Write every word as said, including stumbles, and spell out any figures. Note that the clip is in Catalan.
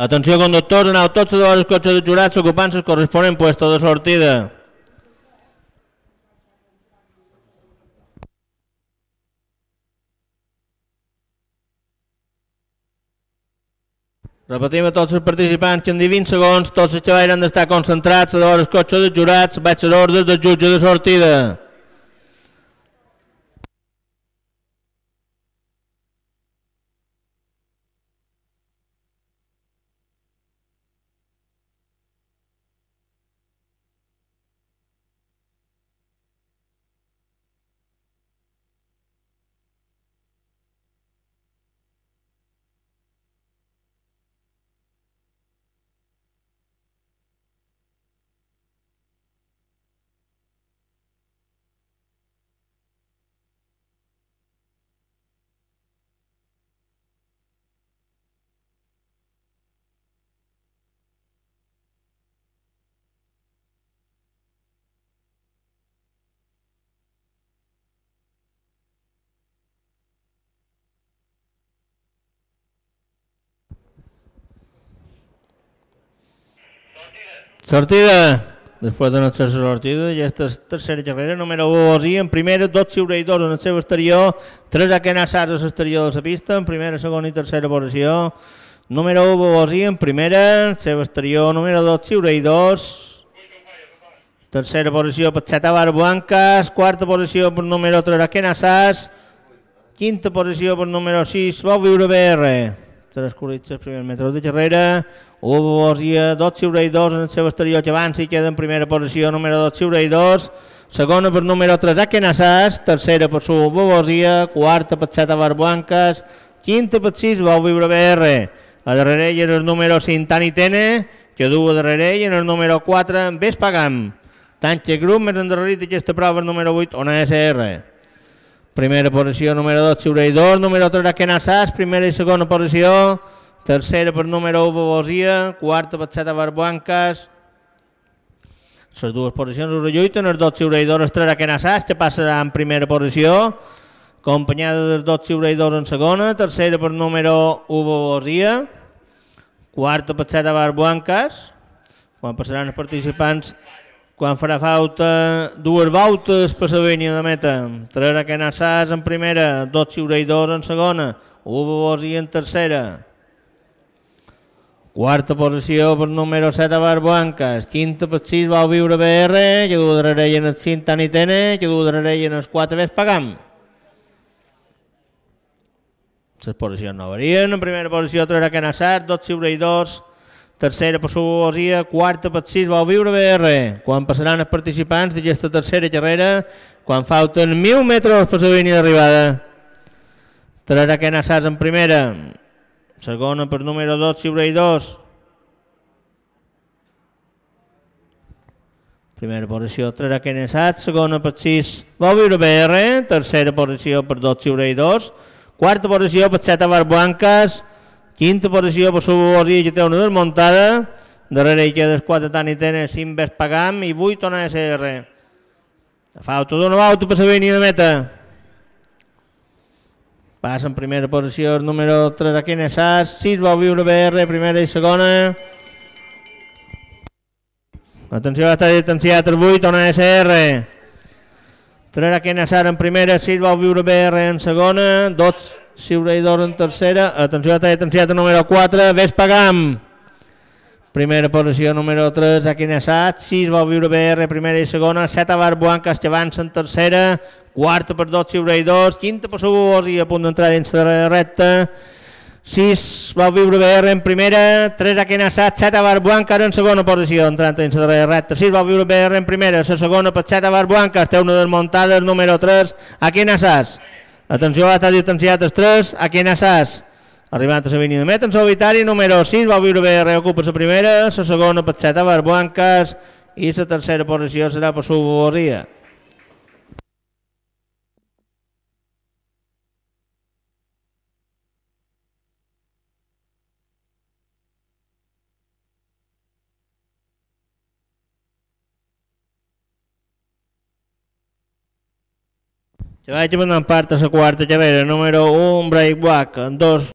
Atenció, conductors, aneu tots a els cotxes de jurats ocupant el corresponent puesto de sortida. Repetim a tots els participants que en vint segons tots els xavals han d'estar concentrats a els cotxes de jurats, vaig a l'ordre del jutge de sortida. Sortida. Després de la tercera sortida, i aquesta tercera carrera, número u, Bosí, en primera, dos xiureïdors en el seu exterior, tres akenassats a l'exterior de la pista, en primera, segona i tercera posició. Número u, Bosí, en primera, en el seu exterior, número dos, xiureïdors. Tercera posició per Xeta Barbuancas, quarta posició per número tres, akenassats. Quinta posició per número sis, Vau Viure B R. Tres corritxes, primers metres de carrera. u, Bosia, dos xiureïdors en el seu exterior que avança i queda en primera posició, número dos, xiureïdors. Segona per número tres, Akenassats. Tercera per su, Bosia. Quarta per Xeta Barbuancas. Quinta per sis, Vau Viure B R. A darrere hi ha el número cinc, Tani Tene, que du a darrere, i en el número quatre, Vespagam. Tant que grup més endarrerit aquesta prova, el número vuit, Ona S R. Primera posició, número dos, xiureïdors. Número tres, Akenassats. Primera i segona posició. Tercera per número u, Bosia. Quarta per Xeta Barbuancas. Les dues posicions us relluiten, els dos xiureïdors, els tres Akenassats, que passarà en primera posició, acompanyada dels dos xiureïdors en segona. Tercera per número u, Bosia. Quarta per Xeta Barbuancas. Quan passaran els participants, quan farà falta dues voltes per la línia de meta. Tres Akenassats en primera, dos xiureïdors en segona, u, Bosia en tercera. Quarta posició per número set, Barbuancas. Quinta per sis, Vau Viure B R, que du darrere en el cinc, Tani Tene, que du darrere en els quatre, Vespagam. Les posicions no varien. En primera posició, tres Akenassats, dos xiureïdors. Tercera per su, Bosia. Quarta per sis, Vau Viure B R. Quan passaran els participants d'aquesta tercera carrera, quan falten mil metres per la línia d'arribada. Tres Akenassats en primera. Segona per número dos, xiureïdors. Primera posició, tres Akenassats. Segona per sis, Vau Viure B R. Tercera posició per dos xiureïdors. Quarta posició per Xeta Barbuancas. Quinta posició per su, Bosia, que té una desmuntada. Darrere hi queda els quatre, Tani Tene, cinc, Vespagam i vuit, Ona S R. Falta d'una volta per la línia de meta. Passa en primera posició el número tres, Akenassats. sis, Vau Viure B R, primera i segona. Atenció, està distanciat el vuit, Ona S R. tres Akenassats en primera, sis, Vau Viure B R en segona. dos xiureïdors en tercera. Atenció, està distanciat el número quatre, Vespagam. Primera posició, número tres, Akenassats. sis, Vau Viure B R, primera i segona. set, Barbuancas, que avança en tercera. Quarta per dos xiureïdors. Quinta per su, Bosia, a punt d'entrar dins de la recta. sis, Vau Viure B R en primera. tres, Akenassats. set, Barbuancas en segona posició, entrant dins de la recta. sis, Vau Viure B R en primera. La segona per set, Barbuancas. Té una desmuntada, el número tres, Akenassats. Atenció, està distanciat els tres, Akenassats. Arribant a la línia de meta en solitari, número sis, Vau Viure B R ocupa la primera, la segona per set, Barbuancas, i la tercera posició serà per su, Bosia. Que vaig prendre part a la quarta carrera, número un, Breakback, dos